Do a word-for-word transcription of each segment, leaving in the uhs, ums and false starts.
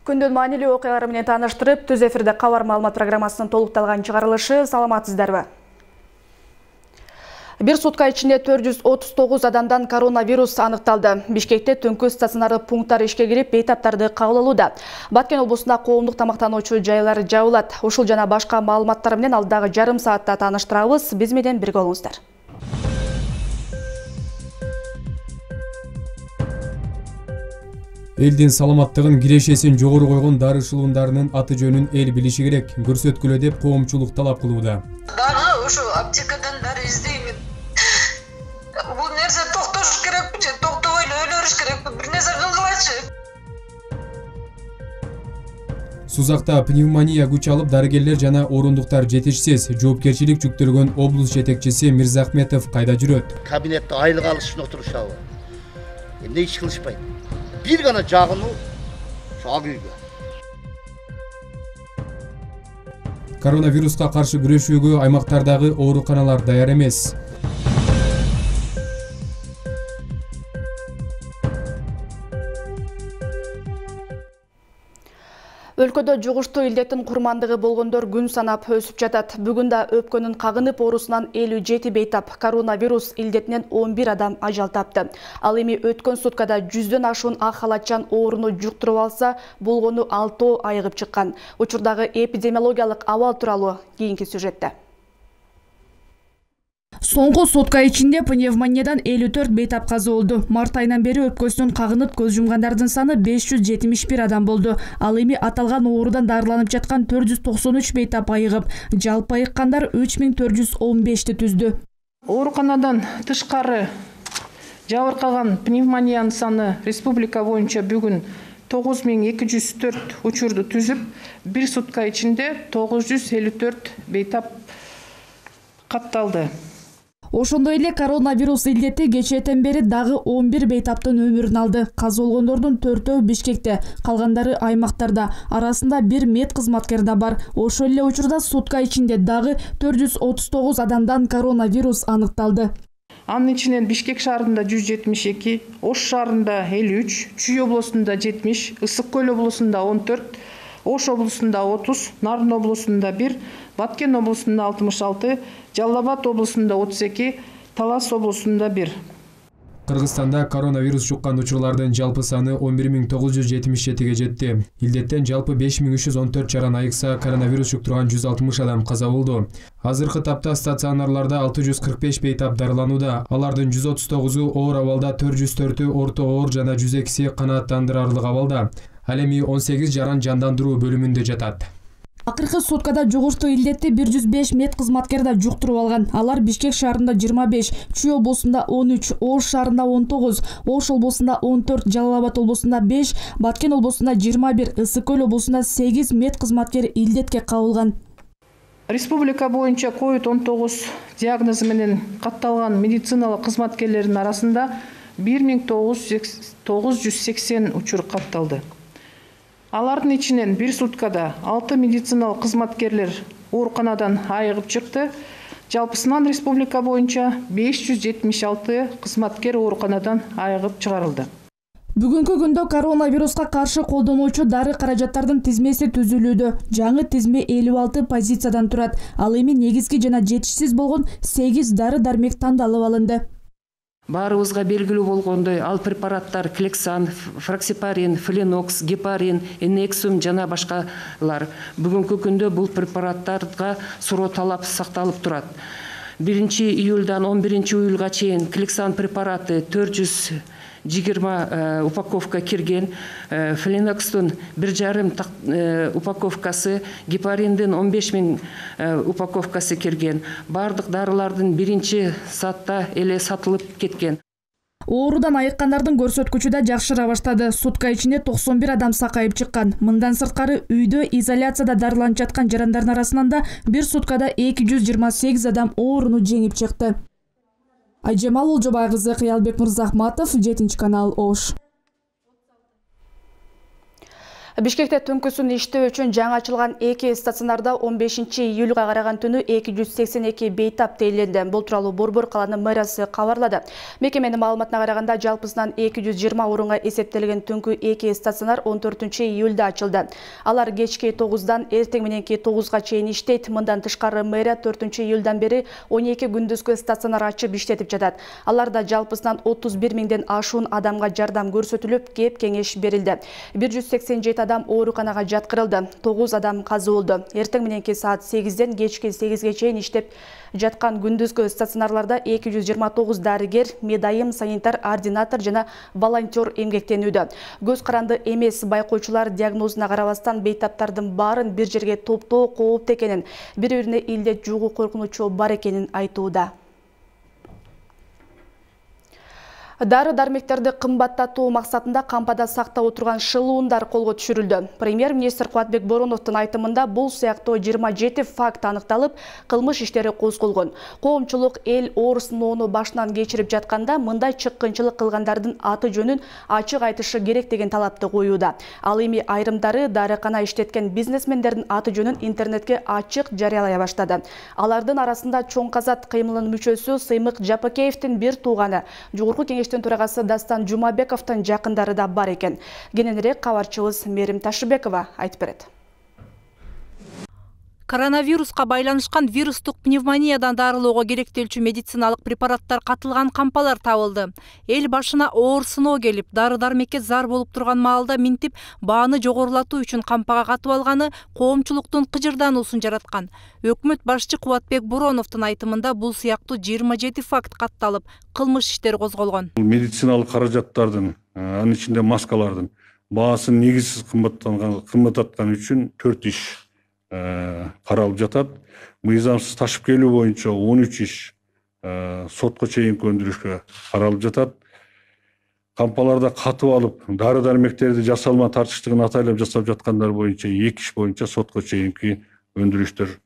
Күндүн маанилүү окуялары менен тааныштырып, Түз эфирде кабар маалымат программасынын толукталган чыгарылышы. Саламатсыздарбы? Бир сутка ичинде төрт жүз отуз тогуз адамдан коронавирус аныкталды. Бишкекте түнкү стационардык пункттар ишке кирип, бейтаптарды кабыл алууда. Баткен облусунда коомдук тамактануучу жайлар жабылат. Ушул жана башка маалыматтар менен алдагы жарым саатта тааныштырабыз. Биз менен бирге болуңуздар. Элдин саламаттыгын кирешесин жогору койгон дарышылуундарынын аты жөнүн эл билиши керек. Көрсөткүлө деп коомчулук талап кылууда. Дагы ошо аптекадан дары издеймин. Бул нерсе токтош керекпи же токтобой эле өлөрүш керекпи? Бир нерсе кылгылачы. Сузакта пневмония күч алып, дарыгерлер жана орундуктар жетишсиз. Жоопкерчилик жүктөлгөн облус жетекчиси Мирзахметов кайда жүрөт? Кабинетте айлык алыш үчүн отурушабы? Эмне иш кылышпайт? Бир гана жагыну ак үйгө. Коронавируска каршы күрөшүүгө аймактардагы ооруканалар даяр эмес. Өлкөдө жугуштуу илдеттин курмандыгы болгондор күн санап өсүп жатат. Бүгүн да өпкөнүн кагынып оорусунан элүү жети бейтап, коронавирус илдетинен он бир адам ажал тапты. Ал эми өткөн суткада жүздөн ашуун ак халатчан ооруну жуктуруп алса, болгону алтоо айыгып чыккан. Учурдагы эпидемиологиялык абал тууралуу кийинки сюжетте. Соңку сутка ичинде пневмониядан элүү төрт бейтап каза болду. Март айынан бери өпкөсүнөн кагынып көз жумгандардын саны беш жүз жетимиш бир адам болду. Ал эми аталган оорудан дарыланып жаткан төрт жүз токсон үч бейтап айыгып, жалпы айыккандар үч миң төрт жүз он бешти түздү. Ооруканадан тышкары жабыркаган пневмониянын саны республика боюнча бүгүн тогуз миң эки жүз төрт учурду түзүп, бир сутка ичинде тогуз жүз элүү төрт бейтап катталды. Ошондой эле коронавирус илдети кечээден бери дагы он бир бейтаптын өмүрүн алды. Каза болгондордун төртөө Бишкекте, калгандары аймактарда. Арасында бир мед кызматкер да бар. Ошол эле учурда сутка ичинде дагы төрт жүз отуз тогуз адамдан коронавирус аныкталды. Анын ичинен Бишкек шаарында жүз жетимиш эки, Ош шаарында элүү үч, Чүй облусунда жетимиш, Ысык көл облусунда он төрт, Ош облусунда отуз, Нарын облусунда бир, Баткен облусунда алтымыш алты, Жалал Абад облусунда отуз эки, Талас облусунда бир. Кыргызстанда коронавирус жуккан учурлардын жалпы саны он бир миң тогуз жүз жетимиш жетиге жетти. Илдеттен жалпы беш миң үч жүз он төрт жаран айыкса, коронавирус жуктурган жүз алтымыш адам каза болду. Азыркы тапта стационарларда алты жүз кырк беш бейтап дарыланууда. Алардын жүз отуз тогузу оор абалда, төрт жүз төртү орто оор жана жүз экиси канааттандырарлык абалда. Ал эми он сегиз жаран жандандыруу бөлүмүндө жатат. Акыркы суткада жугуштуу илдетти бир жүз беш мед кызматкер да жуктуруп алган. Алар Бишкек шаарында жыйырма беш, Чүй облусунда он үч, Ош шаарында он тогуз, Ош облусунда он төрт, Жалал Абад облусунда беш, Баткен облусунда жыйырма бир, Ысык көл облусунда сегиз мед кызматкер илдетке кабылган. Республика боюнча ковид он тогуз диагнозу менен катталган медициналык кызматкерлердин арасында бир миң тогуз жүз сексен учур катталды. Алардын ичинен бир суткада алты медициналык кызматкерлер ооруканадан айыгып чыкты. Жалпысынан республика боюнча беш жүз жетимиш алты кызматкер ооруканадан айыгып чыгарылды. Бүгүнкү күндө коронавируска каршы колдонуучу дары каражаттардын тизмеси түзүлүүдө. Жаңы тизме элүү алты позициядан турат. Ал эми негизги жана жетишсиз болгон сегиз дары-дармек тандалып алынды. Баарыбызга белгилүү болгондой, ал препараттар Клексан, Фраксипарин, Фленокс, Гепарин, Энексум жана башкалар. Бүгүнкү күндө бул препараттарга суроо талап сакталып турат. биринчи июлдан он биринчи июлга чейин Клексан препараты төрт жүз жыйырма упаковка кирген, Фленокстун бир жарым упаковкасы, Гепариндин он беш миң упаковкасы кирген. Бардык дарылардын биринчи саатта эле сатылып кеткен. Оорудан айыккандардын көрсөткүчү да жакшыра баштады. Сутка ичинде токсон бир адам сакайып чыккан. Мындан сырткары үйдө изоляцияда дарыланып жаткан жарандардын арасынан да бир суткада эки жүз жыйырма сегиз адам ооруну жеңип чыкты. Айжамал Олжобай кызы, Кыялбек Мырзахматов, жетинчи канал, Ош. Бишкекте түнкүсүн иштөө үчүн жаңы ачылган эки стационарда он бешинчи июлга караган түнү эки жүз сексен эки бейтап тейленди. Бул тууралуу Борбор калаанын мэриясы кабарлады. Мекеменин маалыматына караганда жалпысынан эки жүз жыйырма орунга эсептелген түнкү эки стационар он төртүнчү июлда ачылды. Алар кечки тогуздан эртең мененки тогузга чейин иштейт. Мындан тышкары мэрия төртүнчү июлдан бери он эки күндүзгү стационар ачып иштетип жатат. Аларда жалпысынан отуз бир миңден ашуун адамга жардам көрсөтүлүп, кеп кеңеш берилди. бир жүз сексен жети адам ооруканага жаткырылды. тогуз адам каза болду. Эртең мененки саат сегизден кечки сегизге чейин иштеп жаткан күндүзгү стационарларда эки жүз жыйырма тогуз дарыгер, медайым, санитар, ординатор жана волонтер эмгектенүүдө. Көз каранды эмес байкоочулар диагнозуна карабастан бейтаптардын баарын бир жерге топтоо кооптуу экенин, бири-бирине илдет жугуу коркунучу бар экенин айтууда. Дары-дармектерди кымбаттатуу максатында кампада сактап отурган шылуундар колго түшүрүлдү. Премьер-министр Кубатбек Бороновдун айтымында бул сыяктуу жыйырма жети факт аныкталып, кылмыш иштери козголгон. Коомчулук эл оорусуноону башынан кечирип жатканда мындай чыккынчылык кылгандардын аты жөнүн ачык айтышы керек деген талапты коюуда. Ал эми айрымдары дарыкана иштеткен бизнесмендердин аты жөнүн интернетке ачык жарыялай баштады. Алардын арасында Чоң Казат кыймылынын мүчөсү Сыймык Жапакеевдин бир тууганы, жогорку кеңеш төрагасы Дастан Жумабековдун жакындары да бар экен. Кененирээк кабарчыбыз Мерим Ташыбекова айтып берет. Коронавируска байланышкан вирустук пневмониядан дарылоого керектелчү медициналык препараттар катылган кампалар табылды. Эл башына оор сыноо келип, дары-дармекке зар болуп турган маалда минтип, бааны жогорулатуу үчүн кампага катып алганы коомчулуктун кыжырдануусун жараткан. Өкмөт башчы Кубатбек Бороновдун айтымында бул сыяктуу жыйырма жети факт катталып, кылмыш иштери козголгон. Медициналык каражаттардын, анын ичинде маскалардын баасын негизсиз кымбаттаткан үчүн төрт иш каралып жатат. Мыйзамсыз ташып келүү боюнча он үч иш сотко чейинки өндүрүшкө каралып жатат. Кампаларда катып алып, дары-дармектерди жасалма тартыштыгын атайлап жасап жаткандар боюнча эки иш боюнча сотко чейинки өндүрүштөр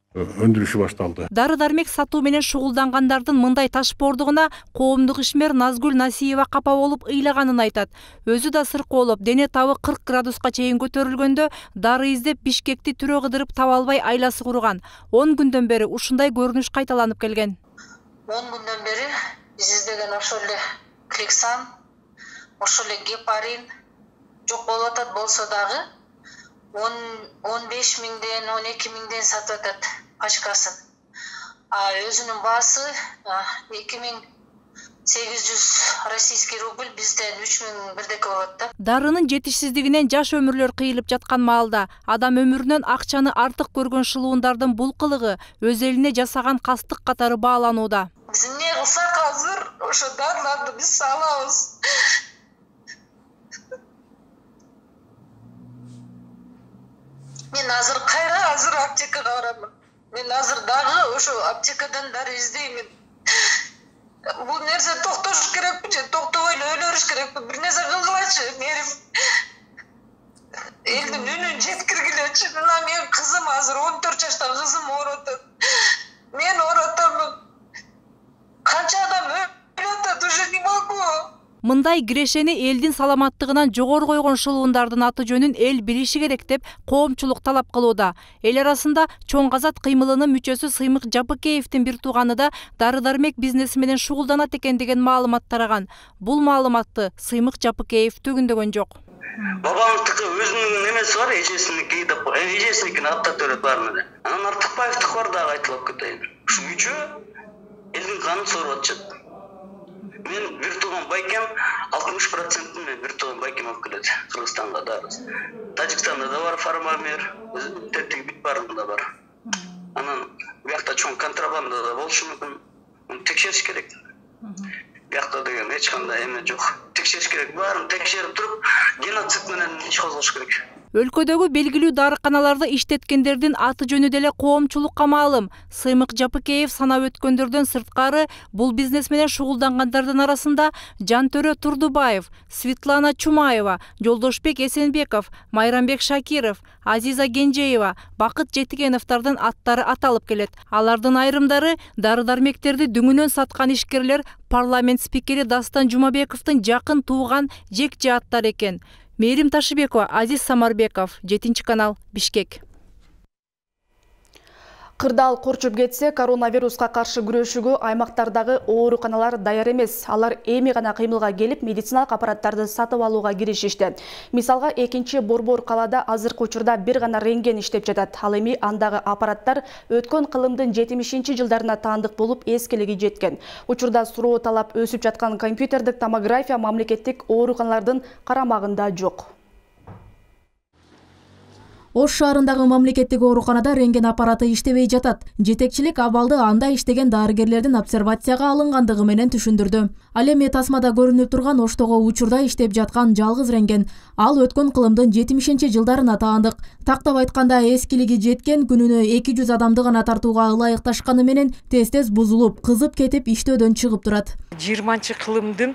өндүрүшү башталды. Дары-дармек сатуу менен шугулдангандардын мындай ташпоордугуна коомдук ишмер Назгүл Насиева капа болуп ыйлаганын айтат. Өзү да сыркоолоп, дене табы кырк градуска чейин көтөрүлгөндө дары издеп Бишкекти түрө кыдырып таба албай айласы курган. он күндөн бери ушундай көрүнүш кайталанып келген. он күндөн бери биз издеген ошол эле Клексан, ошол эле Гепарин жок болуп атат болсо дагы он беш миңден он эки миңден сатып атат пачкасын. А өзүнүн баасы эки миң сегиз жүз российский рубль, бизден үч миң бирдеке болот да. Дарынын жетишсиздигинен жаш өмүрлөр кыйылып жаткан маалда адам өмүрүнөн акчаны артык көргөн шылуундардын бул кылыгы өз элине жасаган кастык катары бааланууда. Биз эмне кылсак азыр ошо дарыларды биз салабыз. Мен азыр кайра азыр аптекага барамын. Мен азыр дагы ошо аптекадан дары издеймин. Бул нерсе токтош керекпи же токтобой эле өлөрүш керекпи? Бир нерсе кылгылачы, Мерим. Элдин үнүн жеткиргилечи. Мына менин кызым азыр он төрт жашта кызым ооруп атат. Мен ооруп атамын. Канча адам өлүп атат, уже не могу. Мындай кирешени элдин саламаттыгынан жогору койгон шылуундардын аты жөнүн эл билиши керек деп коомчулук талап кылууда. Эл арасында Чоң Казат кыймылынын мүчөсү Сыймык Жапакеевдин бир тууганы да дары-дармек бизнеси менен шугулданат экен деген маалымат тараган. Бул маалыматты Сыймык Жапакеев төгүндөгөн жок. Бабамдыкы өзүнүн немеси бар, эжесиники деп, эжесиникин аттап берет баарына. Анан Артыкбаевдики бар дагы айтылып кетейин. Ушу үчөө элдин канын соруп атышат. Мен бир тууган байкем алтымыш процентин мен бир тууган байкем алып келет Кыргызстанга да. Тажикстанда да бар фармамер, тетиги бит барында бар. Анан биякта чоң контрабанда да болушу мүмкүн. Текшериш керек. Биякта деген эч кандай эме жок. Текшериш керек, баарын текшерип туруп, геноцид менен иш козгош керек. Өлкөдөгү белгилүү дарыканаларда иштеткендердин аты жөнү деле коомчулукка маалым. Сыймык Жапакеев санап өткөндөрдөн сырткары бул бизнес менен шугулдангандардын арасында Жантөрө Турдубаев, Светлана Чумаева, Жолдошбек Эсенбеков, Майрамбек Шакиров, Азиза Генжеева, Бакыт Жетигеновдордун аттары аталып келет. Алардын айрымдары дары-дармектерди дүңүнөн саткан ишкерлер парламент спикери Дастан Жумабековдун жакын тууган жек жааттар экен. Мээрим Ташыбекова, Азиз Самарбеков, жетинчи канал, Бишкек. Кырдаал корчуп кетсе, коронавируска каршы күрөшүүгө аймактардагы ооруканалар даяр эмес. Алар эми гана кыймылга келип, медициналык аппараттарды сатып алууга киришишти. Мисалга, экинчи Борбор калаада азыркы учурда бир гана рентген иштеп жатат. Ал эми андагы аппараттар өткөн кылымдын жетимишинчи жылдарына таандык болуп, эскилиги жеткен. Учурда суроо талап өсүп жаткан компьютердик томография мамлекеттик ооруканалардын карамагында жок. Ош шаарындагы мамлекеттик ооруканада рентген аппараты иштебей жатат. Жетекчилик абалды анда иштеген дарыгерлердин обсервацияга алынгандыгы менен түшүндүрдү. Ал эми тасмада көрүнүп турган Оштогу учурда иштеп жаткан жалгыз рентген. Ал өткөн кылымдын жетимишинчи жылдарына таандык. Тактап айтканда, эскилиги жеткен, күнүнө эки жүз адамды гана тартууга ылайыкташканы менен тез-тез бузулуп, кызып кетип иштөөдөн чыгып турат. жыйырманчы кылымдын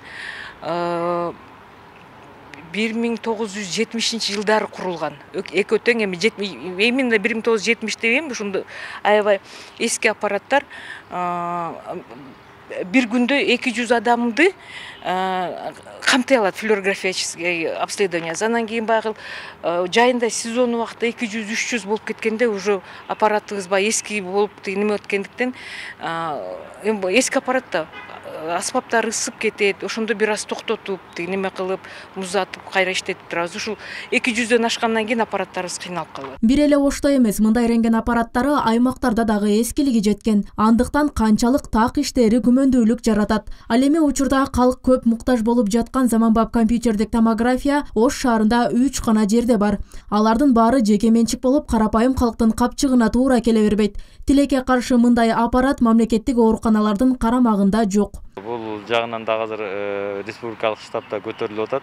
бир миң тогуз жүз жетимишинчи жылдары курулган. Эки өтөң эми именно бир миң тогуз жүз жетимиш дейм, ушундай аябай эски аппараттар бир күндө эки жүз адамды камтай алат, флюорографический обследование. Андан кийин багы жайында сезон убакта эки жүз үч жүз болуп кеткенде уже аппаратыбыз баягы эски болуп неме өткөндүктен эски аппаратта аспаптар ысып кетет, ошондо бир аз токтотуп, неме кылып, музатып, кайра иштетип турабыз. Ушул эки жүздөн ашкандан кийин аппараттарыбыз кыйналып калат. Бир эле Ошто эмес, мындай рентген аппараттары аймактарда дагы эскилиги жеткен. Андыктан канчалык так иштери күмөндүүлүк жаратат. Ал эми учурда калк көп муктаж болуп жаткан заманбап компьютердик томография Ош шаарында үч гана жерде бар. Алардын баары жеке менчик болуп, карапайым калктын капчыгына туура келе бербейт. Тилекке каршы мындай аппарат мамлекеттик ооруканалардын карамагында жок. Бул жагынан дагы азыр республикалык штабта көтөрүлүп атат.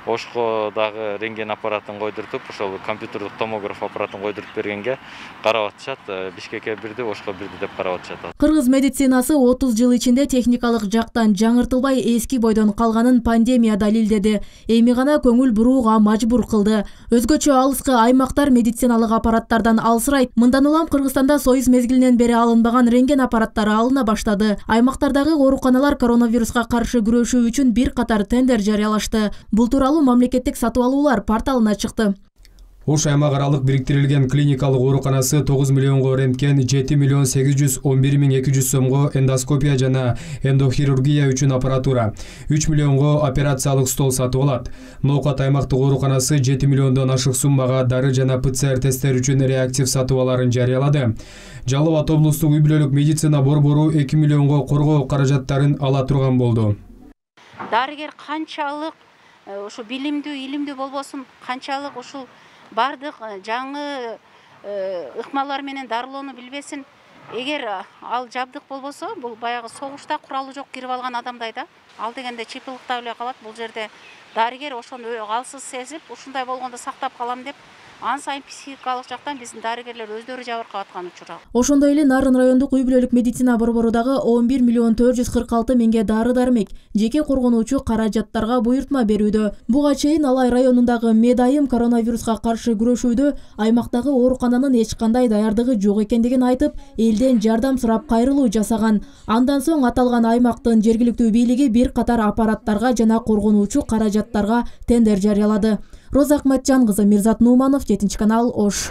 Ошко дагы рентген аппаратын койдуртуп, ошол компьютердик томограф аппаратын койдуруп бергенге карап атышат. Бишкекке бирди, Ошко бирди деп карап атышат. Кыргыз медицинасы отуз жыл ичинде техникалык жактан жаңыртылбай эски бойдон калганын пандемия далилдеди. Эми гана көңүл бурууга мажбур кылды. Өзгөчө алыскы аймактар медициналык аппараттардан алсырайт. Мындан улам Кыргызстанда союз мезгилинен бери алынбаган рентген аппараттары алына баштады. Аймактардагы ооруканалар коронавируска каршы күрөшүү үчүн бир катар тендер жарыялашты. Бул тууралуу мамлекеттик сатып алуулар порталына чыкты. Ош аймак аралык бириктирилген клиникалык ооруканасы тогуз миллионго рентген, жети миллион сегиз жүз он бир миң эки жүз сомго эндоскопия жана эндохирургия үчүн аппаратура, үч миллионго операциялык стол сатып алат. Ноокат аймактык ооруканасы жети миллиондон ашык суммага дары жана ПЦР тесттер үчүн реактив сатыбаларын жарыялады. Жалал Абад облустук үй бүлөлүк медицина борбору эки миллионго коргоо каражаттарын ала турган болду. Дарыгер канчалык ошо билимдүү, илимдүү болбосун, канчалык ушул бардык жаңы ыкмалар менен дарылоону билбесин. Эгер ал жабдык болбосо, бул баягы согушта куралы жок кирип алган адамдай да. Ал дегенде чыпылыктап эле калат. Бул жерде дарыгер ошону алсыз сезип, ушундай болгондо сактап калам деп, ан сайын психикалык жактан биздин дарыгерлер өздөрү жабыркап аткан учур. Ошондой эле Нарын райондук үй бүлөлүк медицина борборудагы он бир миллион төрт жүз кырк алты миңге дары-дармек, жеке коргонуучу каражаттарга буйртма берүүдө. Буга чейин Алай районундагы Медайым коронавируска каршы күрөшүүдө аймактагы оорукананын эч кандай даярдыгы жок экендигин айтып, элден жардам сурап кайрылуу жасаган. Андан соң аталган аймактын жергиликтүү бийлиги бир катар аппараттарга жана коргонуучу каражаттарга тендер жарыялады. Роза Акматжан кызы, Мирзат Нуманов, жетинчи канал, Ош.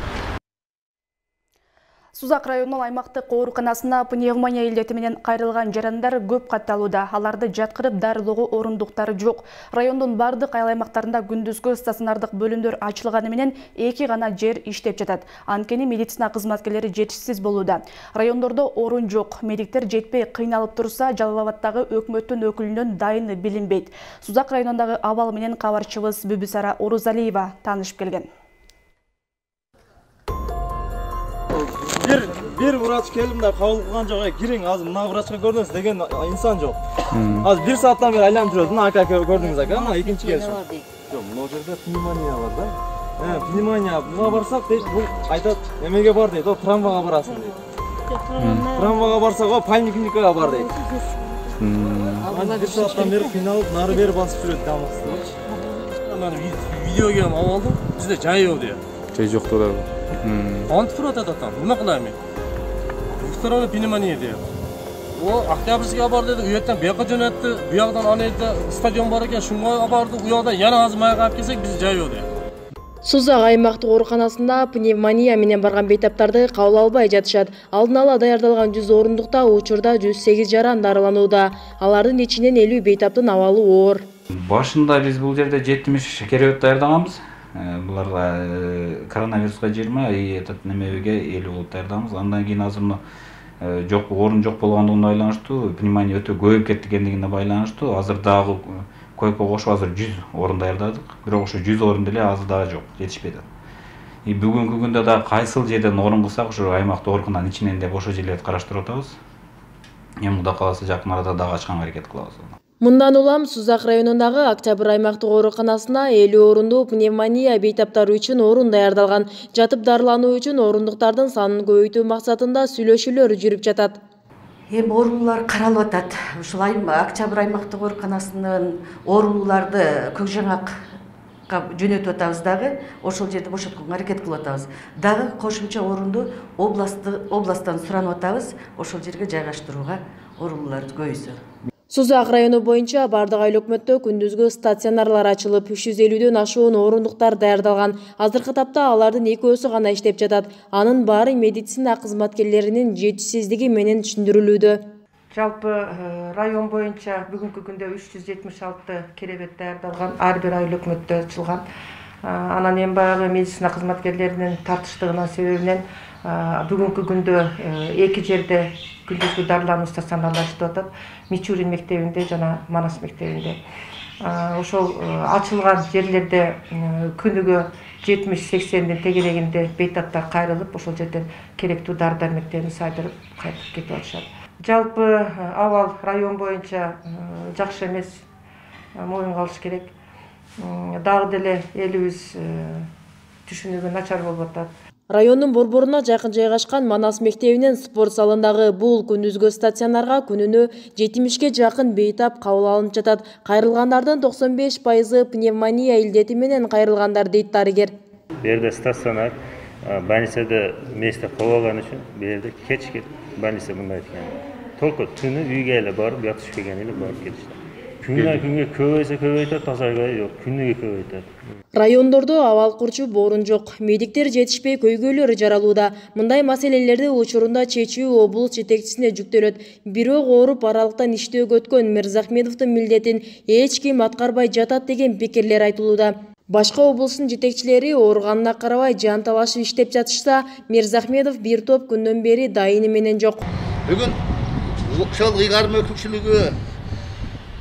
Сузак районунун аймактык ооруканасына пневмония илдети менен кайрылган жарандар көп катталууда. Аларды жаткырып дарылоого орундуктары жок. Райондун бардык айыл аймактарында күндүзгү стационардык бөлүмдөр ачылганы менен эки гана жер иштеп жатат. Анткени медицина кызматкерлери жетишсиз болууда. Райондордо орун жок. Медиктер жетпей кыйналып турса, Жалал Абадтагы өкмөттүн өкүлүнөн дайыны билинбейт. Сузак районундагы абал менен кабарчыбыз Бүбүсара Орузалиева таанышып келген. Бир бир врач келдим да кабыл кылган жок, кириң азыр мына врачка көрдүңүз деген инсан жок. Азыр бир сааттан бери айланып жүрөт. Мына ака көрдүңүз ака, мына экинчи келишим. Жок, мына жерде пневмония бар да. Э, пневмония. Буга барсак дейт, бул айтат, эмеге бар дейт, о травмага барасың дейт. Травмага барсак, о поликлиникага бар дейт. Азыр бир сааттан бери кыйналып, нары бери басып жүрөт дамыксыз. Мен видеоге алып алдым. Бизде жай жок дейт. Жай жок турат. Антифрот атат там. Нема кылам мен? Второй пневмония дейт. О, Октябрьскийге бар dedi, uyaktan bu yoqqa jo'natdi, bu yoqdan anayda stadion bor ekan, shunga bordi, u yoqdan yana azim ayaga olib kelsak, bizni жайбады. Сузак аймактык ооруканасында пневмония менен барган бейтаптарды кабыл албай жатышат. Алдын ала даярдалган жүз орундукта учурда жүз сегиз жаран дарыланууда. Алардын ичинен элүү бейтаптын абалы оор. Башында биз бул жерде жетимиш керебет даярдаганбыз. Буларга коронавируска жыйырма, этот немеге элүү болуп даярдаганбыз. Андан кийин азыр жок, орун жок болгондугуна байланыштуу, пневмония өтө көбөйүп кеткендигине байланыштуу, азыр дагы койко кошуп азыр жүз орун даярдадык. Бирок ошо жүз орун деле азыр дагы жок, жетишпей атат. И бүгүнкү күндө дагы кайсыл жерден орун кылсак, ошо аймакты оорукананын ичинен деп ошо жерлерди караштырып атабыз. Эми Кудай кааласа жакын арада дагы ачканга аракет кылабыз. Мындан улам Сузак районундагы Октябрь аймактык ооруканасына элүү орундуу пневмония бейтаптары үчүн орун даярдалган. Жатып дарылануу үчүн орундуктардын санын көбөйтүү максатында сүйлөшүүлөр жүрүп жатат. Эми оорулар каралып атат. Ушул Октябрь аймактык ооруканасынын ооруларды Көкжаңакка жөнөтүп атабыз дагы, ошол жерде бошотконго аракет кылып атабыз. Дагы кошумча орунду областтан суранып атабыз, ошол жерге жайгаштырууга ооруларды көбөйсө. Сузак району боюнча бардык айыл өкмөттө күндүзгү стационарлар ачылып, үч жүз элүүдөн ашуун орундуктар даярдалган. Азыркы тапта алардын экөөсү гана иштеп жатат. Анын баары медицина кызматкерлеринин жетишсиздиги менен түшүндүрүлүүдө. Жалпы район боюнча бүгүнкү күндө үч жүз жетимиш алты керебет даярдалган, ар бир айыл өкмөттө ачылган. Анан эми баягы медицина кызматкерлеринин тартыштыгынын себебинен бүгүнкү күндө эки жерде күндүзгү дарылануу стационарлары иштеп атат. Мичурин мектебинде жана Манас мектебинде. Ошол ачылган жерлерде күнүгө жетимиш сексендин тегерегинде бейтаптар кайрылып, ошол жерден керектүү дары дармектерин сайдырып кайтып кетип атышат. Жалпы абал район боюнча жакшы эмес, моюнга алыш керек. Дагы деле элибиз түшүнүгү начар болуп атат. Райондун борборуна жакын жайгашкан Манас мектебинин спорт залындагы бул күндүзгү стационарга күнүнө жетимишке жакын бейтап кабыл алынып жатат. Кайрылгандардын токсон беш пайызы пневмония илдети менен кайрылгандар дейт дарыгер. Бу жерде стационар больницада место кабыл алган үчүн бу жерде кечки больница мындай экен. Только түнү үйгө эле барып ятышып келген эле барып кетишти. Күнүнөн күнгө көбөйсө көбөйтөт, азайбай жок, күнүгө көбөйтөт. Райондордо абал курчуп орун жок, медиктер жетишпей көйгөйлөр жаралууда. Мындай маселелерди учурунда чечүү облус жетекчисине жүктөлөт. Бирок ооруп аралыктан иштөөгө өткөн Мырзахмедовдун милдетин эч ким аткарбай жатат деген пикирлер айтылууда. Башка облустун жетекчилери ооруганына карабай жан талашып иштеп жатышса, Мырзахмедов бир топ күндөн бери дайыны менен жок. Бүгүн ошол ыйгарым өкүлчүлүгү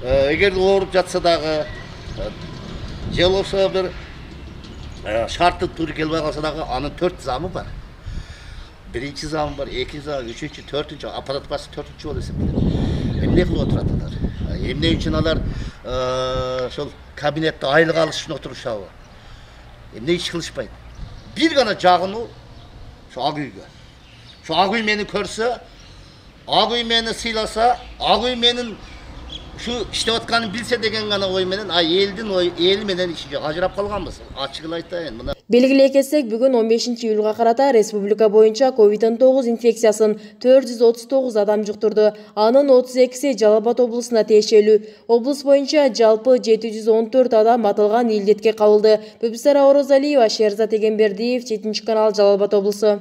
эгер ооруп жатса дагы же болбосо бир шарттуу туура келбей калса дагы анын төрт замы бар. Биринчи замы бар, экинчи зам, үчүнчү, төртүнчү, аппарат башы төртүнчү болуп эсептелет. Эмне кылып отурат алар? Эмне үчүн алар ошол кабинетте айлык алыш үчүн отурушабы? Эмне иш кылышпайт? Бир гана жагынуу ошо ак үйгө. Ошо ак үй мени көрсө, ак үй мени сыйласа, ак үй менин şu иштеп атканын билсе деген гана ой менен, а элдин ой, эл менен иши жок, ажырап калганбыз. Ачыгын айтайын, мына. Белгилей кетсек, бүгүн он бешинчи июлга карата республика боюнча ковид он тогуз инфекциясын төрт жүз отуз тогуз адам жуктурду. Анын отуз экиси Жалал Абад облусуна тиешелүү. Облус боюнча жалпы жети жүз он төрт адам аталган илдетке кабылды. Бүбүсара Орозалиева, Шерзат Эгембердиев, жетинчи канал, Жалал Абад облусу.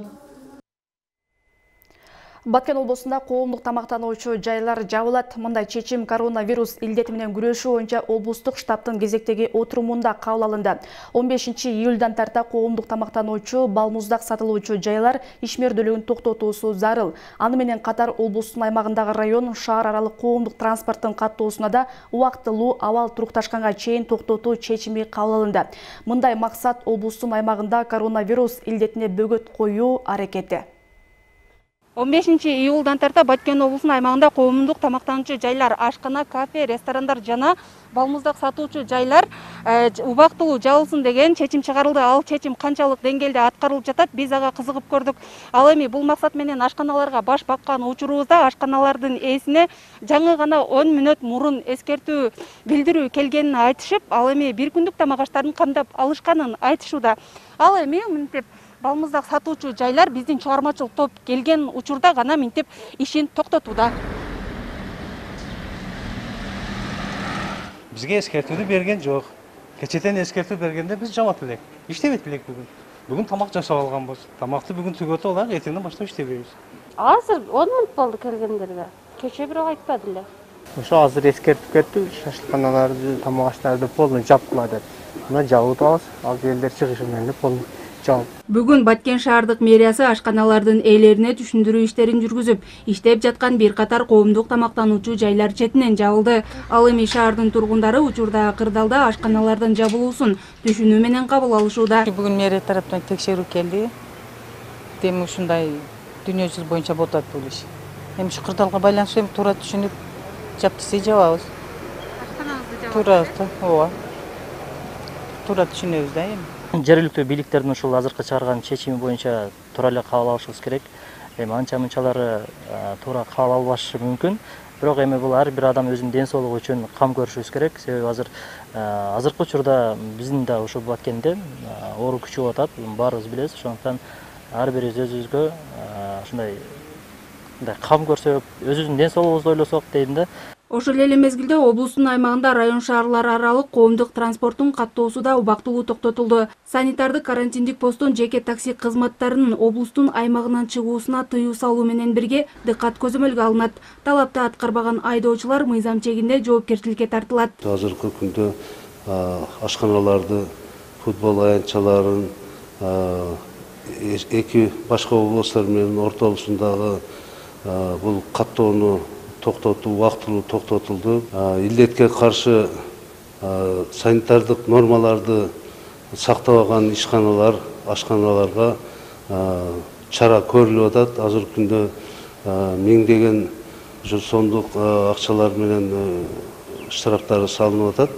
Баткен облусунда коомдук тамактануучу жайлар жабылат. Мындай чечим коронавирус илдети менен күрөшүү боюнча облустук штабтын кезектеги отурумунда кабыл алынды. он бешинчи июлдан тарта коомдук тамактануучу, балмуздак сатылуучу жайлар ишмердүүлүгүн токтотуусу зарыл. Аны менен катар облустун аймагындагы район, шаар аралык коомдук транспорттун каттоосуна да убактылуу абал турукташканга чейин токтотуу чечими кабыл алынды. Мындай максат облустун аймагында коронавирус илдетине бөгөт коюу аракети. он бешинчи июлдан тарта Баткен облусунун аймагында коомдук тамактануучу жайлар, ашкана, кафе, ресторандар жана балмуздак сатуучу жайлар убактылуу жабылсын деген чечим чыгарылды. Ал чечим канчалык деңгээлде аткарылып жатат, биз ага кызыгып көрдүк. Ал эми бул максат менен ашканаларга баш баккан учурубузда ашканалардын ээсине жаңы гана он мүнөт мурун эскертүү билдирүү келгенин айтышып, ал эми бир күндүк тамак аштарын камдап алышканын айтышууда. Ал эми мынтип балмуздак сатуучу жайлар биздин чыгармачыл топ келген учурда гана мынтип ишин токтотууда. бизге эскертүүнү берген жок. Кечетен эскертүү бергенде биз жамап элек. Иштебейт элек бүгүн. Бүгүн тамак жашап алганбыз. Тамакты бүгүн түгөтүп алайык, эртеңден баштап иштебейбиз. Азыр он мүнөт болду келгендерге. Кече бирок айтпады эле. Ошо азыр эскертип кетти, шашлыкканаларды, тамак аштарды полный жапкыла деп. Мына жабып атабыз. Ал элдер чыгышы менен полный жабып. Бүгүн Баткен шаардык мэриясы ашканалардын ээлерине түшүндүрүү иштерин жүргүзүп, иштеп жаткан бир катар коомдук тамактануучу жайлар четинен жабылды. Ал эми шаардын тургундары учурда кырдаалда ашканалардын жабылуусун түшүнүү менен кабыл алышууда. Бүгүн мэрия тараптан текшерүү келди. Эми ушундай дүйнө жүзү боюнча болуп атат бул иш. Эми ушу кырдаалга байланыштуу эми туура түшүнүп жап десе жабабыз. Ашканаңызды Туура, ооба. Туура түшүнөбүз да эми. Жергиликтүү бийликтердин ушул азыркы чыгарган чечими боюнча туура эле кабыл алышыбыз керек. Эми анча мынчалары туура кабыл албашы мүмкүн. Бирок эми бул ар бир адам өзүнүн ден соолугу үчүн кам көрүшүбүз керек. Себеби азыр азыркы учурда биздин да ушул Баткенде оору күчөп атат. Баарыбыз билебиз. Ошондуктан ар бирибиз өзүбүзгө ушундай кам көрсөк, өзүбүздүн ден соолугубузду ойлосок дейм да. Ошол эле мезгилде облустун аймагында район шаарлар аралык коомдук транспорттун каттоосу да убактылуу токтотулду. Санитардык карантиндик посттон жеке такси кызматтарынын облустун аймагынан чыгуусуна тыюу салуу менен бирге дыккат көзөмөлгө алынат. Талапты аткарбаган айдоочулар мыйзам чегинде жоопкерчиликке тартылат. Азыркы күндө ашканаларды, футбол аянтчаларын эки башка областтар менен ортолушундагы бул каттоону токтотуу убактылуу токтотулду. Илдетке каршы санитардык нормаларды сактабаган ишканалар, ашканаларга чара көрүлүп атат. Азыркы күндө миңдеген сомдук акчалар менен штрафтары салынып атат.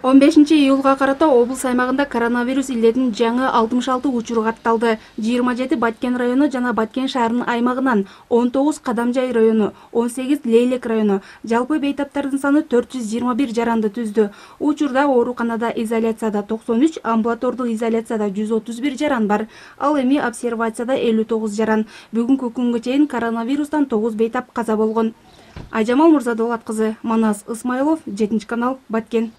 он бешинчи июлга карата облус аймагында коронавирус илдетинин жаңы алтымыш алты учуру катталды. жыйырма жети Баткен району жана Баткен шаарынын аймагынан, он тогуз Кадамжай району, он сегиз Лейлек району. Жалпы бейтаптардын саны төрт жүз жыйырма бир жаранды түздү. Учурда ооруканада изоляцияда токсон үч, амбулатордук изоляцияда жүз отуз бир жаран бар. Ал эми обсервацияда элүү тогуз жаран. Бүгүнкү күнгө чейин коронавирустан тогуз бейтап каза болгон. Айжамал Мурзадолат кызы, Манас Исмайлов, жетинчи канал, Баткен.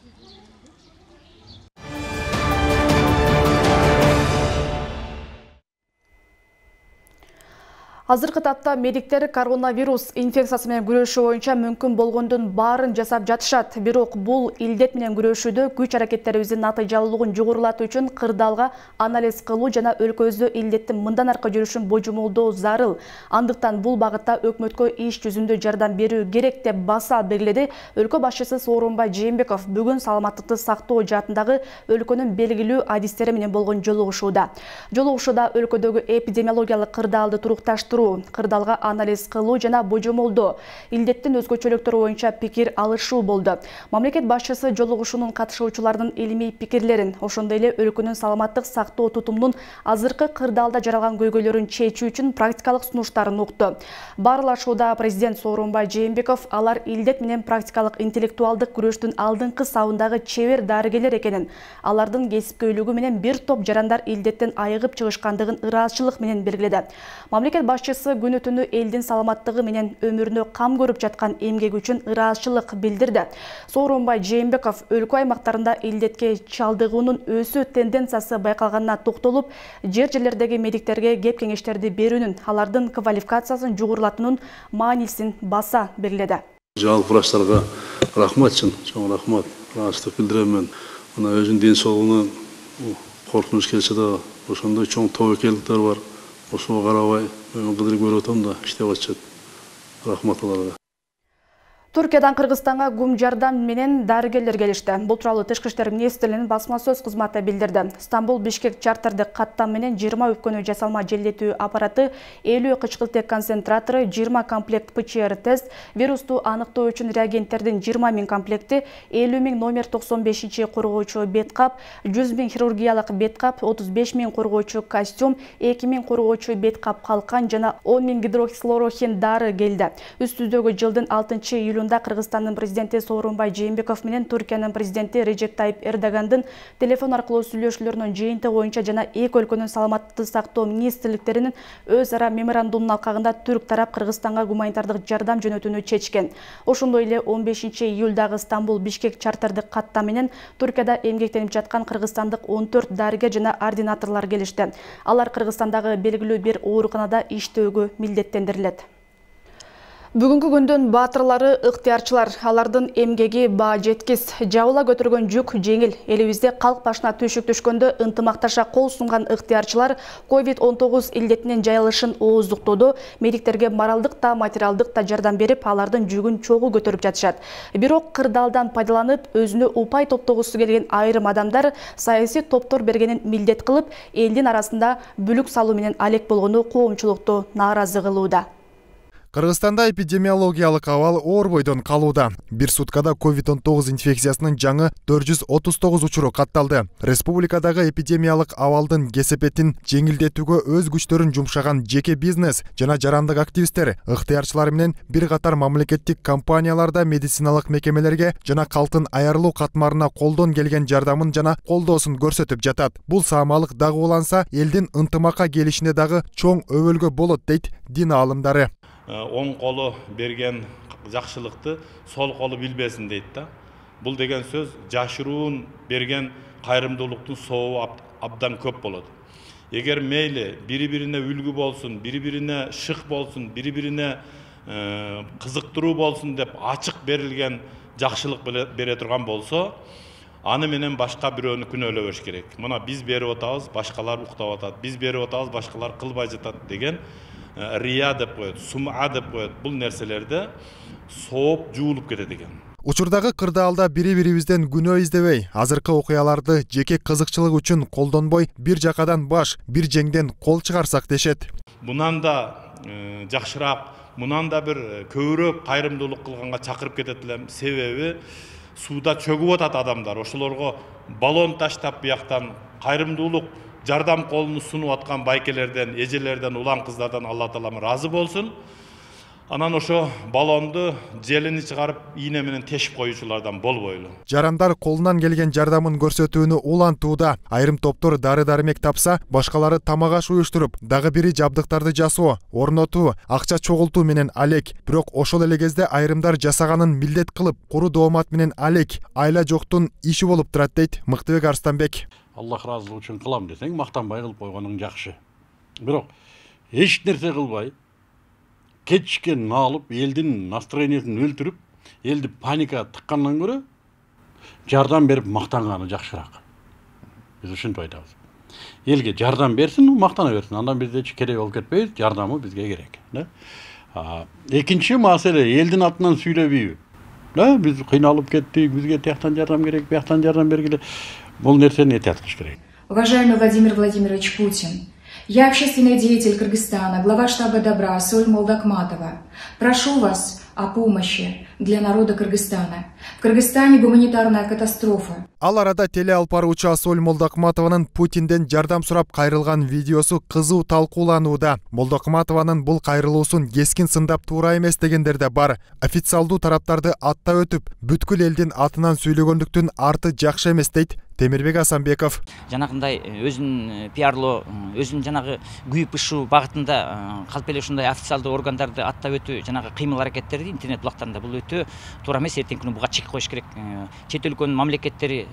Азыркы тапта медиктер коронавирус инфекциясы менен күрөшүү боюнча мүмкүн болгондун баарын жасап жатышат. Бирок бул илдет менен күрөшүүдө күч аракеттерибиздин натыйжалуулугун жогорулатуу үчүн кырдаалга анализ кылуу жана өлкөбүздө илдеттин мындан аркы жүрүшүн божомолдоо зарыл. Андыктан бул багытта өкмөткө иш жүзүндө жардам берүү керек деп баса белгиледи өлкө башчысы Сооронбай Жээнбеков бүгүн саламаттыкты сактоо жаатындагы өлкөнүн белгилүү адистери менен болгон жолугушууда. Жолугушууда өлкөдөгү эпидемиологиялык кырдаалды турукташтыруу, кырдаалга анализ кылуу жана божомолдоо, илдеттин өзгөчөлүктөрү боюнча пикир алышуу болду. Мамлекет башчысы жолугушуунун катышуучулардын илимий пикирлерин, ошондой эле өлкөнүн саламаттык сактоо тутумунун азыркы кырдаалда жаралган көйгөйлөрүн чечүү үчүн практикалык сунуштарын укту. Баарлашууда президент Сооронбай Жээнбеков алар илдет менен практикалык интеллектуалдык күрөштүн алдыңкы сабындагы чебер дарыгерлер экенин, алардын кесипкөйлүгү менен бир топ жарандар илдеттен айыгып чыгышкандыгын ыраазычылык менен белгиледи. Мамлекет башчысы күнү түнү элдин саламаттыгы менен өмүрүнө кам көрүп жаткан эмгеги үчүн ыраазычылык билдирди. Сооронбай Жээнбеков өлкө аймактарында илдетке чалдыгуунун өсүү тенденциясы байкалганына токтолуп, жер жерлердеги медиктерге кеп кеңештерди берүүнүн, алардын квалификациясын жогорулатуунун маанисин баса белгиледи. Жалпы врачтарга рахмат, чоң рахмат. Ыраазычтык билдирем мен. Мына өзүнүн ден соолугуна коркунуч келсе да, ошондой чоң тобокелдиктер бар. Ошого карабай, мен кыдырып көрүп атам да, иштеп атышат. Рахмат аларга. Түркиядан Кыргызстанга гум жардам менен дарыгерлер келишти. Бул тууралуу Тышкы иштер министрлигинин басма сөз кызматы билдирди. Стамбул Бишкек чартердик каттам менен жыйырма өпкөнү жасалма желдетүү аппараты, элүү кычкылтек концентратору, жыйырма комплект ПЧР тест, вирусту аныктоо үчүн реагенттердин жыйырма миң комплекти, элүү миң номер токсон бешинчи коргоочу бет кап, жүз миң хирургиялык бет кап, отуз беш миң коргоочу костюм, эки миң коргоочу бет кап калкан жана он миң гидроксилорохин дары келди. Үстүздөгү жылдын алтынчы июлүнда июнда Кыргызстандын президенти Сооронбай Жээнбеков менен Түркиянын президенти Режеп Тайип Эрдогандын телефон аркылуу сүйлөшүүлөрүнүн жыйынтыгы боюнча жана эки өлкөнүн саламаттыкты сактоо министрликтеринин өз ара меморандумунун алкагында түрк тарап Кыргызстанга гуманитардык жардам жөнөтүүнү чечкен. Ошондой эле он бешинчи июлдагы Стамбул Бишкек чартердик катта менен Түркияда эмгектенип жаткан кыргызстандык он төрт дарыгер жана ординаторлор келишти. Алар Кыргызстандагы белгилүү бир ооруканада иштөөгө милдеттендирилет. Бүгүнкү күндүн баатырлары ыктыярчылар, алардын эмгеги баа жеткис, жабыла көтөргөн жүк жеңил. Элибизде калк башына түйшүк түшкөндө ынтымакташа кол сунган ыктыярчылар ковид он тогуз илдетинин жайылышын ооздуктоодо медиктерге моралдык да материалдык да жардам берип, алардын жүгүн чогуу көтөрүп жатышат. Бирок кырдаалдан пайдаланып, өзүнө упай топтогусу келген айрым адамдар саясий топтор бергенин милдет кылып, элдин арасында бүлүк салуу менен алек болгону коомчулукту нааразы кылууда. Кыргызстанда эпидемиологиялык абал оор бойдон калууда. Бир суткада ковид он тогуз инфекциясынын жаңы төрт жүз отуз тогуз учуру катталды. Республикадагы эпидемиялык абалдын кесепетин жеңилдетүүгө өз күчтөрүн жумшаган жеке бизнес жана жарандык активисттер ыктыярчылар менен бир катар мамлекеттик компанияларда медициналык мекемелерге жана калктын аярылуу катмарына колдон келген жардамын жана колдоосун көрсөтүп жатат. Бул саамалык дагы уланса, элдин ынтымакка келишине дагы чоң өбөлгө болот дейт дин аалымдары. Оң колу берген жакшылыкты сол колу билбесин дейт да. Бул деген сөз жашыруун берген кайрымдуулуктун сообу абдан көп болот. Эгер мейли бири-бирине үлгү болсун, бири-бирине шык болсун, бири-бирине кызыктыруу болсун деп ачык берилген жакшылык бере турган болсо, аны менен башка бирөөнү күнөөлөбөш керек. Мына биз берип атабыз, башкалар уктап атат. Биз берип атабыз, башкалар кылбай жатат деген рия деп коет, сум'a деп коет. Бул нерселерде сооп жуулуп кетет экен. Учурдагы кырдаалда бири-бирибизден күнөө издебей, азыркы окуяларды жеке кызыкчылык үчүн колдонбой, бир жакадан баш, бир жеңден кол чыгарсак дешет. Мунан да жакшыраак, мунан да бир көбүрөөк кайрымдуулук кылганга чакырып кетет элем. Себеби сууда чөгүп атат адамдар. Ошолорго баллон таштап бияктан кайрымдуулук жардам колун сунуп аткан байкелерден, эжелерден, улан кыздардан Алла Таалам разы болсун. Анан ошо баллонду желини чыгарып, ийне менен тешип коюучулардан болбойлу. Жарандар колунан келген жардамын көрсөтүүнү улантууда. Айрым топтор дары-дармек тапса, башкалары тамак аш уюштуруп, дагы бири жабдыктарды жасоо, орнотуу, акча чогултуу менен алек. Бирок ошол эле кезде айрымдар жасаганын милдет кылып, куру доомат менен алек, айла жоктун иши болуп турат дейт Мыктыбек Арстанбек. Аллах разылыгы үчүн кылам десең, мактанбай кылып койгоның жакшы. Бирок эч нерсе кылбай, кетишкен алып, элдин настроениесин өлтүрүп, элди паника тыккандан көрө жардам берип мактанганы жакшыраак. Биз ушинтип айтабыз. Элге жардам берсин, мактана берсин. Андан бизде керек болуп кетпейбиз, жардамы бизге керек, да? Экинчи маселе элдин атынан сүйлөбөйбү. Да, биз кыйналып кеттик, бизге тияктан жардам керек, бияктан жардам бергиле. Бул нерсени этият кылыш керек. Уважаемый Владимир Владимирович Путин, я общественный деятель Кыргызстана, глава штаба Добра Соль Молдокматова. Прошу вас о помощи для народа Кыргызстана. В Кыргызстане гуманитарная катастрофа. Ал арада теле алып баруучу Асоль Молдокматованын Путинден жардам сурап кайрылган видеосу кызуу талкууланууда. Молдокматованын бул кайрылуусун кескин сындап туура эмес дегендер да бар. Официалдуу тараптарды аттап өтүп, бүткүл элдин атынан сүйлөгөндүктүн арты жакшы эмес дейт Темирбек Асанбеков. Жанагындай өзүн пиарлоо, өзүн жанагы күйүп ышуу багытында калп эле ушундай официалдуу органдарды аттап өтүү, жанагы кыймыл аракеттерди интернет булактарында бул өтө туура эмес. Эртеңки күнү буга чек коюш керек. Чет өлкөнүн мамлекеттери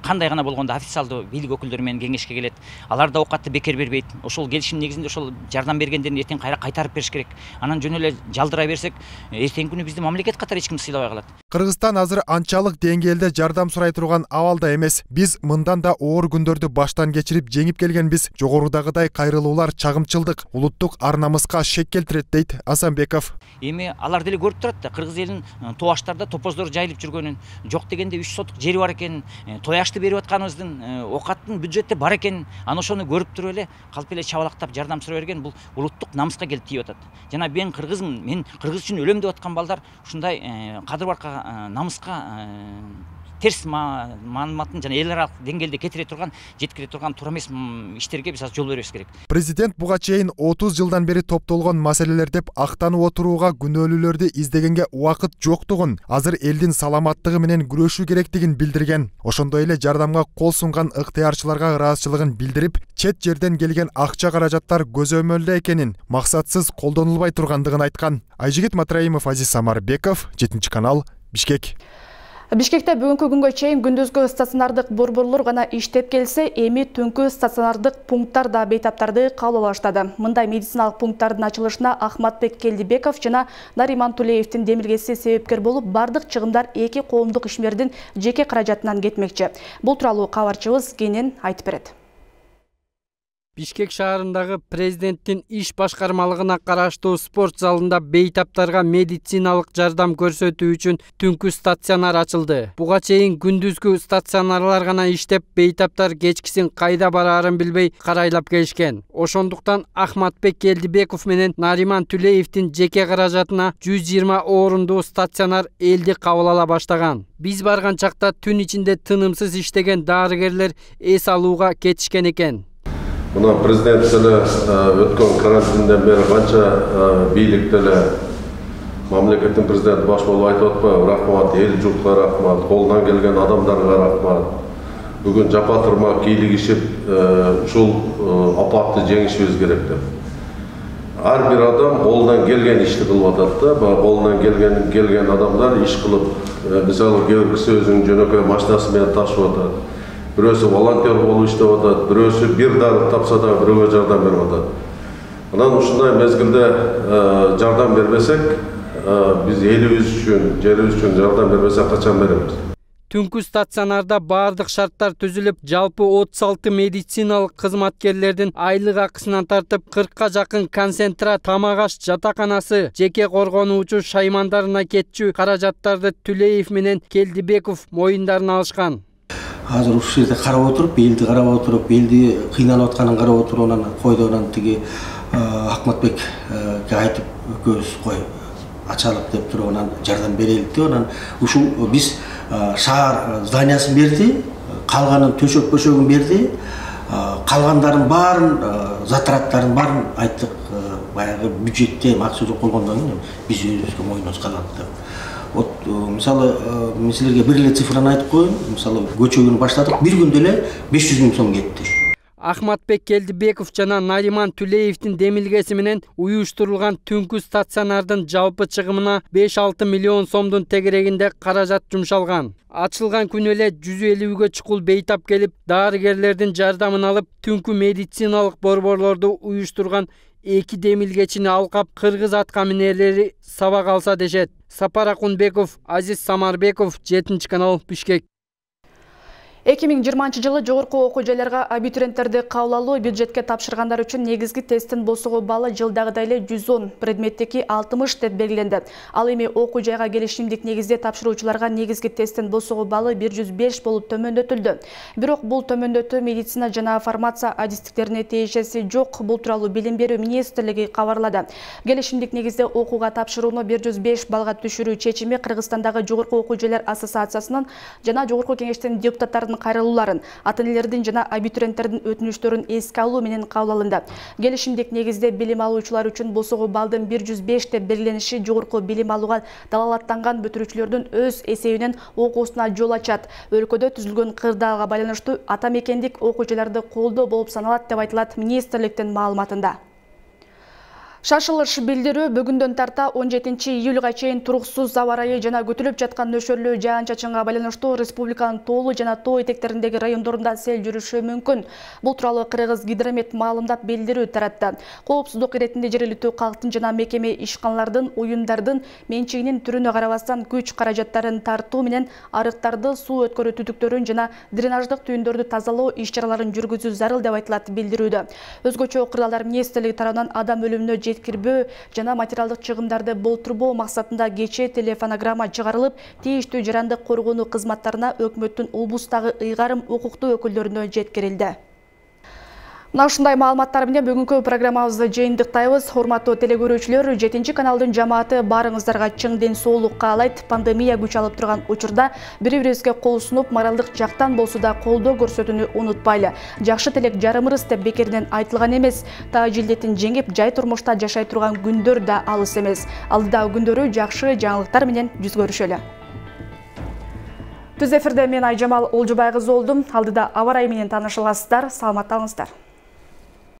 кандай гана болгондо официалдуу бийлик өкүлдөрү менен кеңешке келет. Алар да оокатты бекер бербейт. Ошол келишим негизинде ошол жардам бергендерин эртең кайра кайтарып бериш керек. Анан жөн эле жалдыра берсек, эртеңки күнү бизди мамлекет катары эч ким сыйлабай калат. Кыргызстан азыр анчалык деңгээлде жардам сурай турган абалда эмес. Биз мындан да оор күндөрдү баштан кечирип жеңип келгенбиз. Жогорудагыдай кайрылуулар чагымчылдык, улуттук ар намыска шек келтирет дейт Асанбеков. Эми алар деле көрүп турат да, кыргыз элинин тоаштарда топоздор жайылып жүргөнүн, жок дегенде үч сотук жери бар экенин, тояшты берип атканыбыздын, оокаттын бюджетте бар экенин, аны ошону көрүп туруп эле калп эле чабалактап жардам сурай берген бул улуттук намыска келип тийип атат. Жана мен кыргызмын, мен кыргыз үчүн өлөм деп аткан балдар ушундай кадыр барка намыска терс маалыматын жана эл аралык деңгээлде кетире турган, жеткире турган туура эмес иштерге биз жол бербеш керек. Президент буга чейин отуз жылдан бери топтолгон маселелер деп актанып отурууга күнөөлүүлөрдү издегенге убакыт жоктугун, азыр элдин саламаттыгы менен күрөшүү керектигин билдирген. Ошондой эле жардамга кол сунган ыктыярчыларга ыраазычылыгын билдирип, чет жерден келген акча каражаттар көзөмөлдө экенин, максатсыз колдонулбай тургандыгын айткан. Айжигит Матраимов, Азиз Самарбеков, жетинчи канал, Бишкек. Бишкекте бүгүнкү күнгө чейин күндүзгү стационардык борборлор гана иштеп келсе, эми түнкү стационардык пункттар да бейтаптарды кабыл алыштады. Мындай медициналык пункттардын ачылышына Ахматбек Келдибеков жана Нариман Тулеевдин демилгеси себепкер болуп, бардык чыгымдар эки коомдук ишмердин жеке каражатынан кетмекчи. Бул тууралуу кабарчыбыз кенен айтып берет. Бишкек шаарындагы президенттин иш башкармалыгына караштуу спорт залында бейтаптарга медициналык жардам көрсөтүү үчүн түнкү стационар ачылды. Буга чейин күндүзгү стационарлар гана иштеп, бейтаптар кечкисин кайда бараарын билбей карайлап келишкен. Ошондуктан Ахматбек Келдибеков менен Нариман Тулеевдин жеке каражатына жүз жыйырма орунду стационар элди кабыл ала баштаган. Биз барган чакта түн ичинде тынымсыз иштеген дарыгерлер эс алууга кетишкен экен. Мына президент деле өткөн карантинден бери канча бийлик деле мамлекеттин президенти баш болуп айтып атпайбы? Рахмат, эл журтка рахмат, колунан келген адамдарга рахмат. Бүгүн жапа турмак кийлигишип ушул апатты жеңишибиз керек деп. Ар бир адам колунан келген ишти кылып атат да, колунан келген келген адамдар иш кылып, мисалы кээ бир киши өзүнүн жөнөкөй машинасы менен ташып атат. Бирөөсү волонтер болуп иштеп атат, бирөөсү бир дары тапса да бирөөгө жардам берип атат. Анан ушундай мезгилде жардам бербесек, биз элибиз үчүн, жерибиз үчүн жардам бербесек качан беребиз? Түнкү стационарда бардык шарттар түзүлүп, жалпы отуз алты медициналык кызматкерлердин айлык акысынан тартып кыркка жакын концентрат, тамак аш жатаканасы, жеке коргонуучу шаймандарына кетчү каражаттарды Тулеев менен Келдибеков моюндарына алышкан. Азыр ушул жерде карап отуруп, элди карап отуруп, элди кыйналып атканын карап отуруп, анан койду, анан тиги Ахматбекке айтып, экөөбүз кой ачалык деп туруп, анан жардам берелик деп, анан ушул биз шаар зданиясын берди, калганын төшөк бөшөгүн берди, калгандарын баарын, затраттарын баарын айттык, баягы бюджетте максат жок болгондон кийин биз өзүбүзгө моюнубузга алат деп. Вот, мисалы, мен силерге бир эле цифраны айтып коеюн. Мисалы, көчөгүн баштадык, бир күндө эле беш жүз миң сом кетти. Ахматбек Келдибеков жана Нариман Тулеевдин демилгеси менен уюштурулган түнкү стационардын жалпы чыгымына беш алты миллион сомдун тегерегинде каражат жумшалган. Ачылган күнү эле жүз элүүгө чукул бейтап келип, дарыгерлердин жардамын алып, түнкү медициналык борборлорду уюштурган эки демилгечини алкап, кыргыз аткаминерлери сабак алса дешет. Сапар Акунбеков, Азиз Самарбеков, жетинчи канал, Бишкек. эки миң жыйырманчы жылы жогорку окуу жайларга абитуриенттерди кабыл алуу бюджетке тапшыргандар үчүн негизги тесттин босугу баллы жылдагыдай эле жүз он, предметтеги алтымыш деп белгиленди. Ал эми окуу жайга келишимдик негизде тапшыруучуларга негизги тесттин босугу баллы бир жүз беш болуп төмөндөтүлдү. Бирок бул төмөндөтүү медицина жана фармация адистиктерине тиешеси жок. Бул тууралуу Билим берүү министрлиги кабарлады. Келишимдик негизде окууга тапшырууну бир жүз беш баллга түшүрүү чечими Кыргызстандагы жогорку окуу жайлар ассоциациясынын жана жогорку кеңештин депутаттарынын кайрылууларын, ата-энелердин жана абитуриенттердин өтүнүчтөрүн эске алуу менен кабыл алынды. Келишимдик негизде билим алуучулар үчүн босугу балдын бир жүз беш деп белгилениши жогорку билим алууга далалаттанган бүтүрүүчүлөрдүн өз эсебинен окуусуна жол ачат. Өлкөдө түзүлгөн кырдаалга байланыштуу ата мекендик окуу жайларды колдоо болуп саналат деп айтылат министрликтин маалыматында. Шашылыш билдирүү бүгүндөн тарта он жетинчи июлга чейин туруксуз аба ырайы жана күтүлүп жаткан нөшөрлүү жаан-чачынга байланыштуу республиканын тоолуу жана тоо этектериндеги райондорунда сел жүрүшү мүмкүн. Бул тууралуу Кыргыз гидромет маалымдап билдирүү таратты. Коопсуздук иретинде жергиликтүү калктын жана мекеме ишканалардын, уюмдардын менчигинин түрүнө карабастан күч каражаттарын тартуу менен арыктарды, суу өткөрүү түтүктөрүн жана дренаждык түйүндөрдү тазалоо иш-чараларын жүргүзүү зарыл деп айтылат билдирүүдө. Өзгөчө кырдаалдар министрлиги тарабынан адам өлүмүнө жеткирбөө жана материалдык чыгымдарды болтурбоо максатында кечээ телефонограмма чыгарылып, тийиштүү жарандык коргонуу кызматтарына өкмөттүн облустагы ыйгарым укуктуу өкүлдөрүнө жеткирилди. Мына ушундай маалыматтар менен бүгүнкү программабызды жыйынтыктайбыз. Урматтуу телекөрүүчүлөр, жетинчи каналдын жамааты баарыңыздарга чың ден соолук каалайт. Пандемия күч алып турган учурда бири-бирибизге кол сунуп, моралдык жактан болсо да колдоо көрсөтүүнү унутпайлы. Жакшы тилек жарымырыз деп бекеринен айтылган эмес. Тааж илдетин жеңип, жай турмушта жашай турган күндөр да алыс эмес. Алдыдагы күндөрү жакшы жаңылыктар менен жүз көрүшөлү. Түз эфирде мен Айжамал Олжубай кызы болдум. Алдыда аба ырайы менен таанышыласыздар. Саламатта болуңуздар.